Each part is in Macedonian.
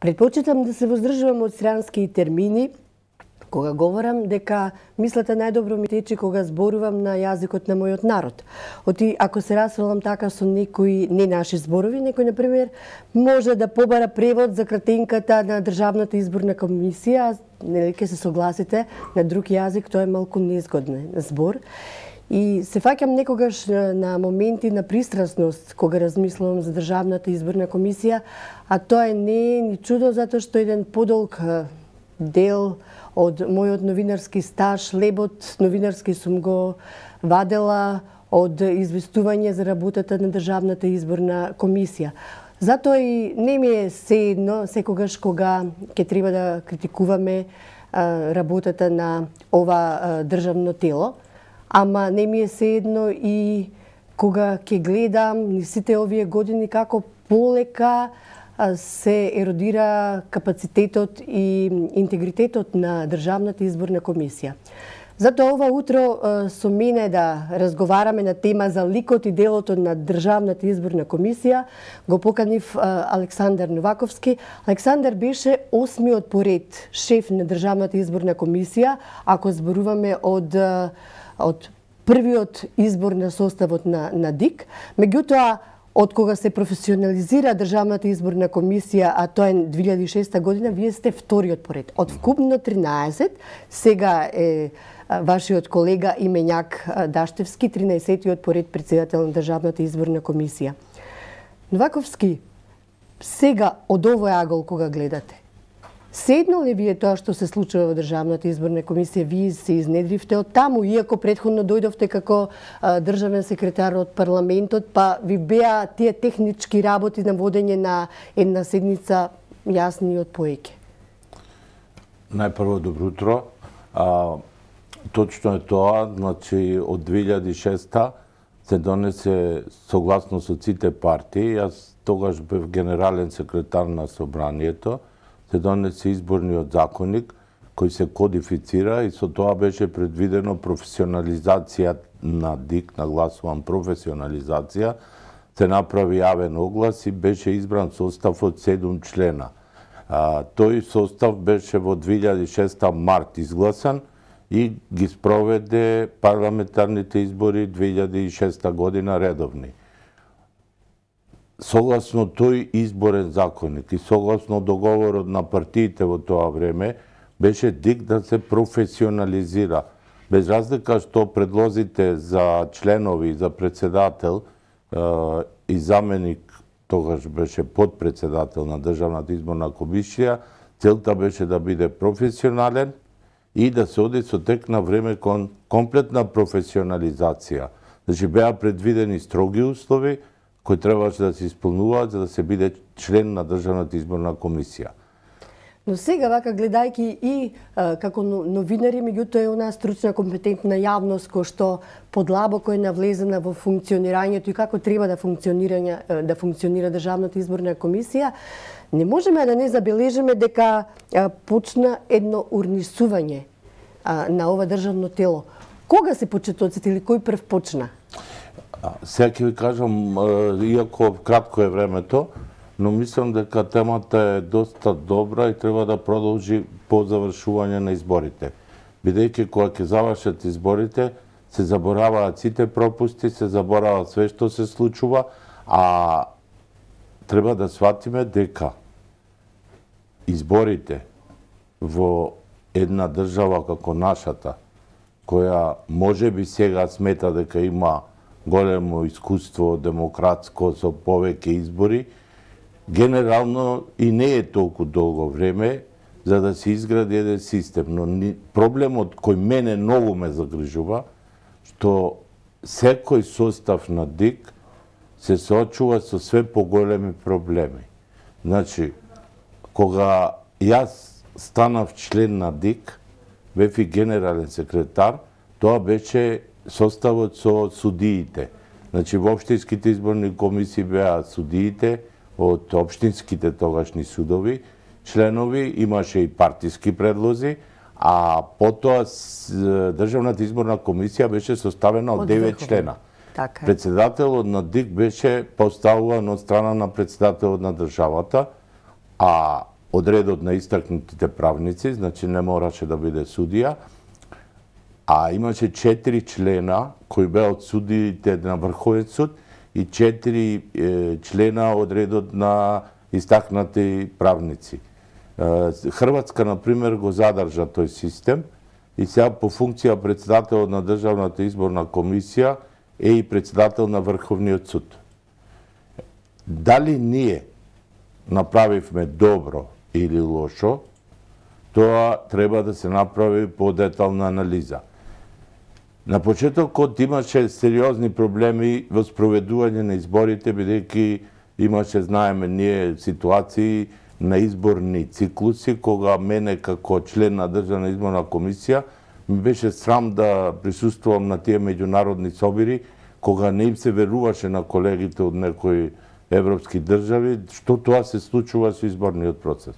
Предпочитам да се воздржувам од странски термини, кога говорам, дека мислата најдобро ми тече кога зборувам на јазикот на мојот народ. Оти, ако се расвелам така со некои не наши зборови, некој, например, може да побара превод за кратенката на Државната изборна комисија, нели ќе се согласите, на друг јазик тоа е малку незгоден збор. И се фаќам некогаш на моменти на пристрасност кога размислувам за Државната изборна комисија, а тоа не е ни чудо затоа што еден подолг дел од мојот новинарски стаж, лебот новинарски сум го вадела од известување за работата на Државната изборна комисија. Затоа и не ми е сеедно секогаш кога ќе треба да критикуваме работата на ова државно тело, ама не ми е сеедно и кога ќе гледам ни сите овие години како полека се еродира капацитетот и интегритетот на Државната изборна комисија. Затоа ова утро со мене да разговараме на тема за ликот и делото на Државната изборна комисија го поканив Александар Новаковски. Александар беше 8-миот поред шеф на Државната изборна комисија, ако зборуваме од првиот избор на составот на ДИК. Меѓутоа, од кога се професионализира Државната изборна комисија, а тоа е 2006 година, вие сте вториот поред. Од вкупно 13, сега е вашиот колега Имењак Даштевски, 13-тиот поред председател на Државната изборна комисија. Новаковски, сега од овој агол кога гледате, седно ли вие тоа што се случува во Државната изборна комисија, вие се изнедривте од таму, иако претходно дојдовте како државен секретар од парламентот, па ви беа тие технички работи на водење на една седница јасни од поеќе? Најпрво, добро утро. Точно е тоа, значи од 2006 се донесе согласно со сите партии, јас тогаш бев генерален секретар на собранието, се донесе изборниот законник кој се кодифицира и со тоа беше предвидено професионализација на ДИК, нагласувам професионализација, се направи јавен оглас и беше избран состав од 7 члена. Тој состав беше во 2006 март изгласан и ги спроведе парламентарните избори 2006 година редовни. Согласно тој изборен законник и согласно договорот на партиите во тоа време, беше ДИК да се професионализира. Без разлика што предлозите за членови, за председател и заменик, тогаш беше подпредседател на Државната изборна комисија, целта беше да биде професионален и да се оди со тек на време кон комплетна професионализација. Значи беа предвидени строги услови кои требаше да се исполнуваат за да се биде член на Државната изборна комисија. Но сега, вака, гледајќи и како новинари, меѓутоа е онаа стручна, компетентна јавност која што подлабоко е навлезена во функционирањето и како треба да функционира Државната изборна комисија, не можеме да не забележиме дека почна едно урнисување на ова државно тело. Кога се почетоците или кој прв почна? Сега ќе ви кажам, иако кратко е времето, но мислам дека темата е доста добра и треба да продолжи по завршување на изборите. Бидејќи кога ќе завршат изборите, се забораваат сите пропусти, се заборава све што се случува, а треба да сватиме дека изборите во една држава како нашата, која можеби сега смета дека има големо искуство демократско со повеќе избори, генерално и не е толку долго време за да се изгради еден систем. Но проблемот кој мене многу ме загрижува, што секој состав на ДИК се соочува со све поголеми проблеми. Значи, кога јас станав член на ДИК, бев и генерален секретар, тоа беше составот со судиите. Значи, во општинските изборни комисии беа судиите од општинските тогашни судови, членови, имаше и партиски предлози, а потоа Државната изборна комисија беше составена од 9 члена. Председателот на ДИК беше поставуван од страна на председателот на државата, а од редот на истакнутите правници, значи не мораше да биде судија, а имаше 4 члена кои беа од судиите на Врховен суд и 4 члена од редот на истакнати правници. Хрватска, например, го задржа тој систем и сега по функција председател на Државната изборна комисија е и председател на Врховниот суд. Дали ние направивме добро или лошо, тоа треба да се направи подетална анализа. На почетокот имаше сериозни проблеми во спроведување на изборите, бидејќи имаше, знаеме ние, ситуации на изборни циклуси, кога мене како член на Државна изборна комисија ми беше срам да присуствувам на тие меѓународни собири, кога не им се веруваше на колегите од некои европски држави, што тоа се случува со изборниот процес.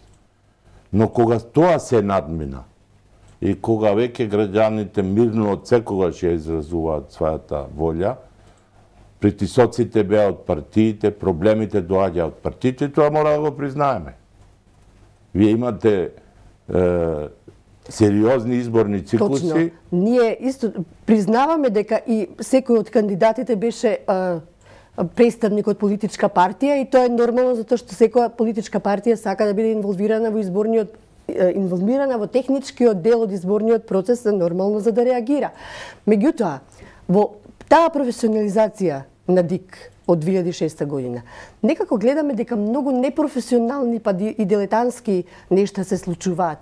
Но кога тоа се надмина и кога веќе граѓаните мирно од секогаш ја изразуваат својата волја, притисоците беа од партиите, проблемите доаѓа од партиите, тоа мора да го признаеме. Вие имате сериозни изборни циклуси. Точно. Ние исто признаваме дека и секој од кандидатите беше представник од политичка партија и тоа е нормално затоа што секоја политичка партија сака да биде инволвирана во техничкиот дел од изборниот процес, е нормално за да реагира. Меѓутоа, во таа професионализација на ДИК од 2006 година, некако гледаме дека многу непрофесионални па и дилетантски нешта се случуваат.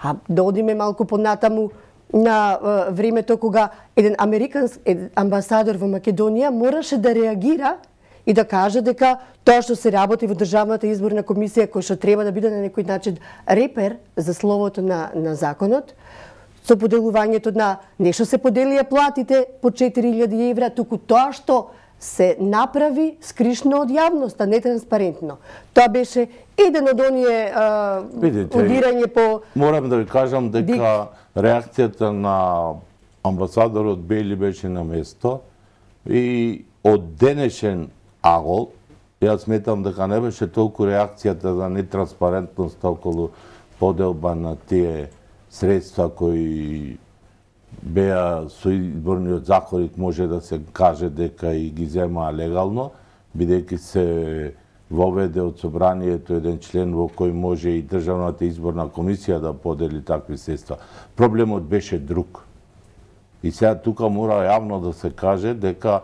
А да одиме малку понатаму на времето кога еден американски амбасадор во Македонија мораше да реагира и да каже дека тоа што се работи во Државната изборна комисија, кој што треба да биде на некој начин репер за словото на законот, со поделувањето на не што се поделија платите по 4000 евра, туку тоа што се направи скришно од јавноста, нетранспарентно. Тоа беше еден од оние удирање по... Морам да ви кажам дека реакцијата на амбасадорот Бели беше на место и од денешен агол, јас сметам дека не беше толку реакцијата за нетранспарентност околу поделба на тие средства кои беа со изборниот законник, може да се каже дека и ги земаа легално, бидејќи се воведе од собранието еден член во кој може и Државната изборна комисија да подели такви средства. Проблемот беше друг. И сега тука мора јавно да се каже дека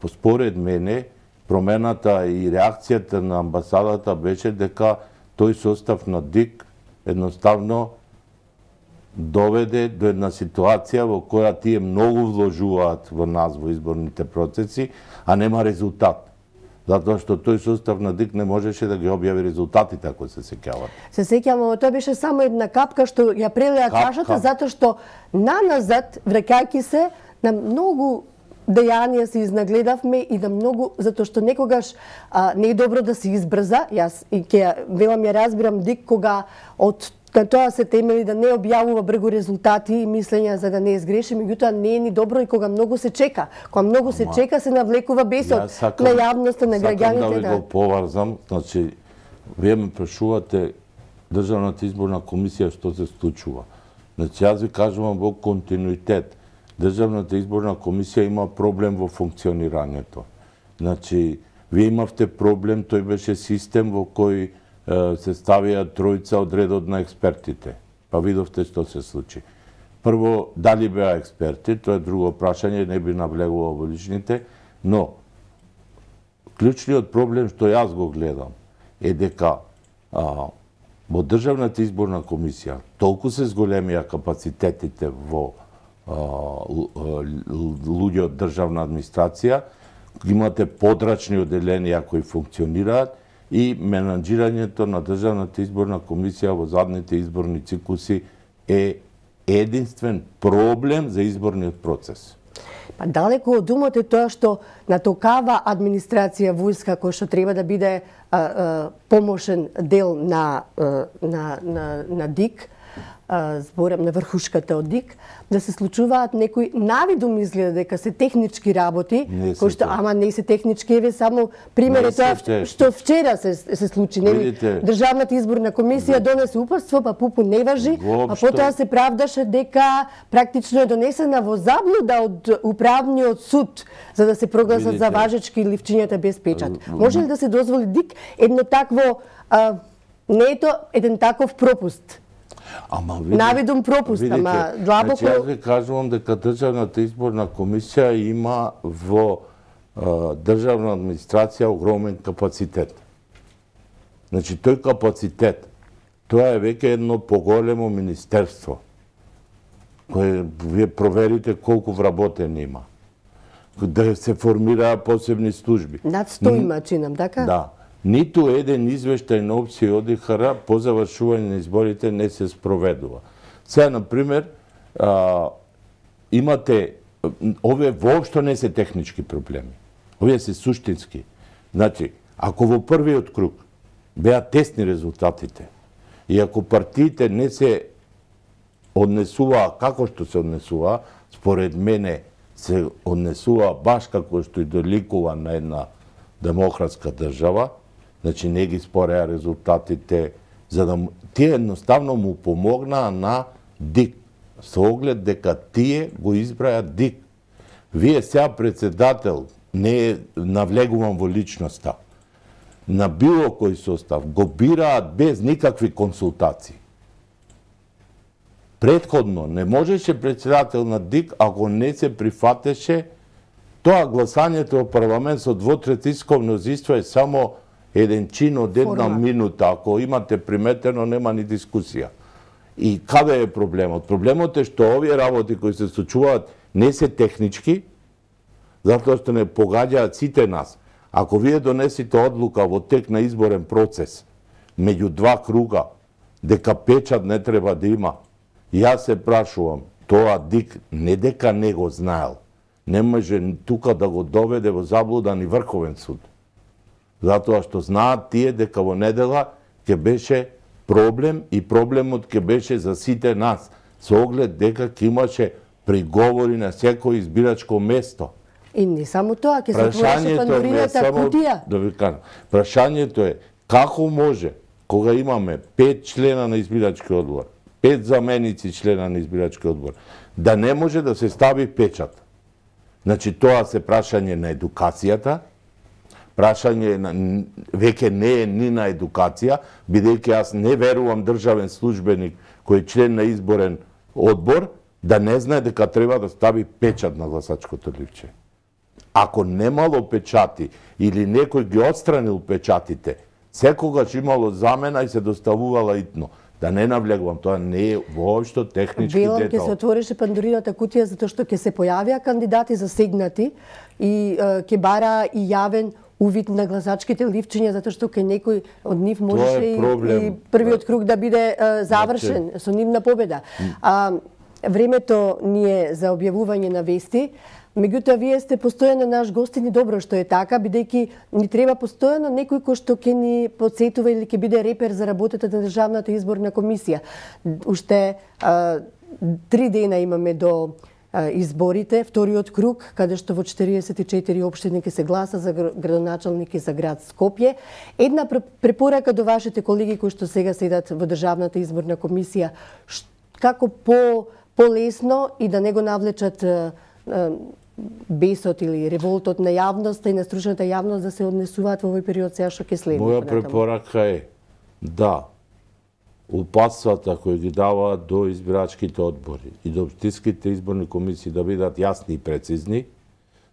според мене промената и реакцијата на амбасадата беше дека тој состав на ДИК едноставно доведе до една ситуација во која тие многу вложуваат во нас во изборните процеси, а нема резултат. Затоа што тој состав на ДИК не можеше да ги објави резултатите, ако се сеќавате. Се сеќавам, тоа беше само една капка што ја прелеа чашата, затоа што наназад, враќајќи се, на многу дејанија се изнагледавме и на многу, затоа што некогаш не е добро да се избрза. Јас и ќе велам ја разбирам ДИК кога од на тоа се темели да не објавува бргу резултати и мислења за да не изгреши, меѓутоа не е ни добро и кога многу се чека. Кога многу се чека се навлекува бесот на јавноста, на граѓаните. Сакам да ви го поврзам, значи, вие ме прашувате Државната изборна комисија што се случува. Значи, јас ви кажувам во континуитет. Државната изборна комисија има проблем во функционирањето. Значи, вие имавте проблем, тој беше систем во кој се ставија тројца од редот на експертите. Па видовте што се случи. Прво, дали беа експерти, тоа е друго прашање, не би навлегувал во личните, но клучниот проблем што јас го гледам е дека во Државната изборна комисија толку се зголемија капацитетите во луѓе од државна администрација, имате подрачни оделенија кои функционираат, и менаџирањето на Државната изборна комисија во задните изборни циклуси е единствен проблем за изборниот процес. Па далеку од умот е тоа што натокава администрација војска која што треба да биде помошен дел на ДИК, зборам на врхушката од ДИК, да се случуваат некои навидум изгледа дека се технички работи, кои што ама не се технички, еве само пример е тоа што вчера се случи, нели? Државната изборна комисија донесе упатство, па ПУПУ не важи, а потоа се правдаше дека практично е донесена во заблуда од управниот суд за да се прогласат за важечки ливчињата без печат. Може ли да се дозволи ДИК едно такво не е тоа еден таков пропуст? Навидум пропуст, ама длабоко... Значи, јас ви кажувам дека Државната изборна комисија има во државна администрација огромен капацитет. Значи, тој капацитет, тоа е веќе едно поголемо министерство, кое вие проверите колку вработени има. Да се формираа посебни служби. Над 100 има, чинам, така? Да. Ниту еден извештај на опција ОДИХР по завршување на изборите не се спроведува. Сега, например, имате, овие воопшто не се технички проблеми. Овие се суштински. Значи, ако во првиот круг беа тесни резултатите и ако партиите не се однесуваа како што се однесуваа, според мене се однесуваа баш како што и доликува на една демократска држава, значи не ги спореа резултатите, за да тие едноставно му помогнаа на ДИК, со оглед дека тие го избраја ДИК. Вие сега председател, не навлегувам во личноста, на било кој состав го бираат без никакви консултации. Претходно не можеше председател на ДИК ако не се прифатеше тоа гласањето во парламент со двотретинско мнозинство е само еден чин од една минута. Ако имате приметено, нема ни дискусија. И каде е проблемот? Проблемот е што овие работи кои се случуваат не се технички, затоа што не погаѓаат сите нас. Ако вие донесите одлука во тек на изборен процес, меѓу два круга, дека печат не треба да има, јас се прашувам, тоа ДИК не дека не го знаел, не може тука да го доведе во заблуда ни Врховен суд. Затоа што знаат тие дека во недела ќе беше проблем и проблемот ќе беше за сите нас, со оглед дека ќе имаше приговори на секој избирачко место. И не само тоа, ќе се отвореше Пандорината кутија. Да ви кажам, прашањето е како може кога имаме 5 члена на избирачки одбор, 5 заменици члена на избирачки одбор, да не може да се стави печат. Значи тоа се прашање на едукацијата, прашање веќе не е ни на едукација, бидејќи јас не верувам државен службеник кој е член на изборен одбор да не знае дека треба да стави печат на гласачкото ливче. Ако немало печати или некој ги отстранил печатите, секогаш имало замена и се доставувала итно. Да не навлегувам, тоа не е воопшто технички детал. Велам, ќе се отвореше Пандорината кутија затоа што ќе се појавија кандидати засегнати и ќе бара и јавен увид на гласачките ливчиња, затоа што кај некој од нив можеше и првиот круг да биде завршен со нивна победа. Времето ни е за објавување на вести. Меѓутоа, вие сте постојано наш гостин и добро што е така, бидејќи ни треба постојано некој кој што ќе ни подсетува или ќе биде репер за работата на Државната изборна комисија. Уште 3 дена имаме до изборите, вториот круг, каде што во 44 општини ќе се гласа за градоначалник и за град Скопје. Една препорака до вашите колеги кои што сега седат во Државната изборна комисија, како полесно и да не го навлечат бесот или револтот на јавноста и на стручната јавност да се однесуваат во овој период сега што ќе следи. Моја препорака е да упатствата кои ги даваат до избирачките одбори и до општинските изборни комисии да бидат јасни и прецизни,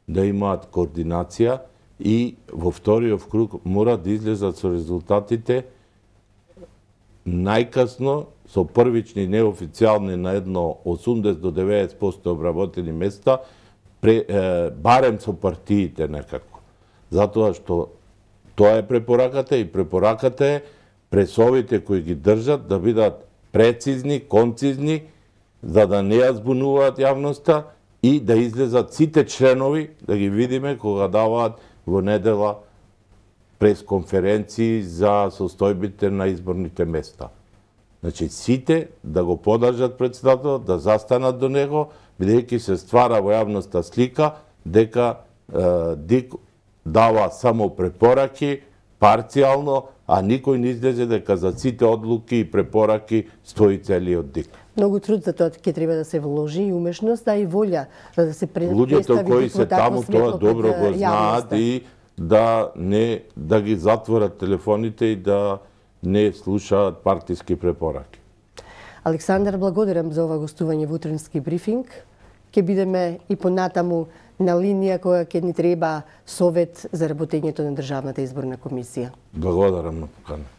да имаат координација и во вториот круг мора да излезат со резултатите најкасно со првични неофицијални на едно 80 до 90% обработени места, барем со партиите некако. Затоа што тоа е препораката и препораката е пресовите кои ги држат да бидат прецизни, концизни, за да не ја збунуваат јавноста и да излезат сите членови, да ги видиме кога даваат во недела пресконференции за состојбите на изборните места. Значи, сите да го подржат председателот, да застанат до него, бидејќи се ствара во јавноста слика дека ДИК дава само препораки, парцијално, а никој не излезе дека за сите одлуки и препораки стои целиот ДИК. Многу труд за тоа ќе треба да се вложи и умешност, а и волја да се представи Луѓето кои се таму тоа добро го знаат јавноста. и да ги затворат телефоните и да не слушаат партиски препораки. Александар, благодарам за ова гостување во утренски брифинг. Ќе бидеме и понатаму на линија која ќе ни треба совет за работењето на Државната изборна комисија. Благодарам на поканата.